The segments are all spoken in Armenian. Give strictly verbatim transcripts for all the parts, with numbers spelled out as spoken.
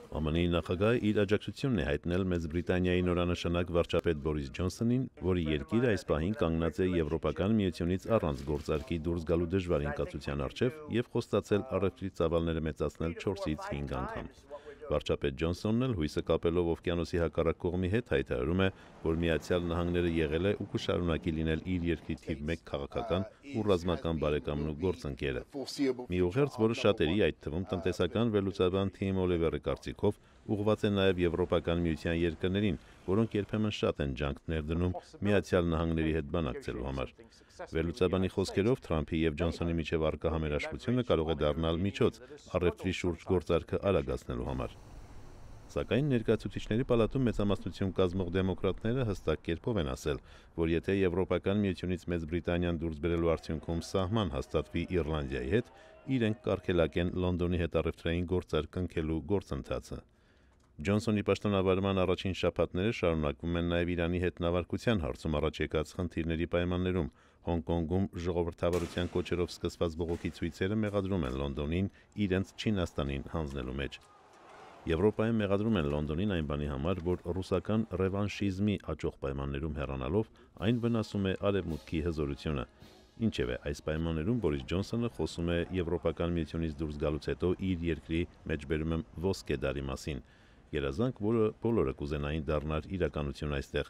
Է Մ Ն-ի նախագահը իր աջակցությունն է հայտնել Մեծ Բրիտանիայի նորանշանակ վարչապետ Բորիս Ջոնսոնին, որի երկիրը այս պահին կանգնած է Եվրոպական միությունից առանց գործարքի դուրս գալու դժվար ընկացության առջև եւ խոստացել առևտրի ծավալները մեծացնել չորսից հինգ անգամ։ Վարչապետ Ջոնսոնն էլ հույսը կապելով օվկիանոսի հակառակ կողմի հետ հայտարարում է, որ Միացյալ Նահանգները եղել է ու կշարունակի լինել իր երկրի թիվ մեկ քաղաքական ու ռազմական բարեկամն ու գործընկերը։ Մի ուղերձ, որը շատերի, այդ թվում տնտեսական վերլուծաբան Թիմ Օլիվերի կարծիքով ուղղված է նաև Եվրոպական միության երկրներին, որոնք երբեմն շատ են ջանք ներդնում Միացյալ Նահանգների հետ բանակցելու համար։ Վերլուծաբանի խոսքերով Թրամփի եւ Ջոնսոնի միջև առկա համերաշխությունը կարող է դառնալ միջոց առևտրի շուրջ գործարքը արագացնելու համար։ Սակայն ներկայացուցիչների պալատում մեծամասնություն կազմող դեմոկրատները հստակ կերպով են ասել, որ եթե Եվրոպական միությունից Մեծ Բրիտանիան դուրս բերելու արդյունքում սահման հաստատվի Իռլանդիայի հետ, իրենք կարգելակեն Լոնդոնի հետ առևտրային գործարք կնքելու գործընթացը։ Ջոնսոնի պաշտոնավարման առաջին շաբաթները շարունակվում են նաև Իրանի հետ նավարկության հարցում առաջ եկած խնդիրների պայմաններում։ Հոնկոնգում ժողովրդավարության կոչերով սկսված բողոքի ցույցերը մեղադրում են Լոնդոնին իրենց Չինաստանին հանձնելու մեջ։ Եվրոպայում մեղադրում են Լոնդոնին այն բանի համար, որ ռուսական ռևանշիզմի աճող պայմաններում հեռանալով այն վնասում է արևմուտքի հզորությունը։ Ինչևէ, այս պայմաններում Բորիս Ջոնսոնը խոսում է Եվրոպական միությունից դուրս գալուց հետո իր երկրի մեջբերում եմ ոսկե դարի մասին։ Երազանք, որը բոլորը կուզենային դառնար իրականություն այստեղ,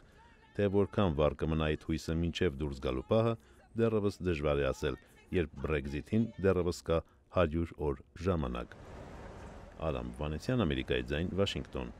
թե որքան վառ կմնա այդ հույսը մինչև դուրս գալու պահը, դեռևս դժվար է ասել, երբ Brexit-ին դեռևս կա հարյուր օր ժամանակ։ Արամ Վանեցյան, Ամերիկայի ձայն, Վաշինգտոն։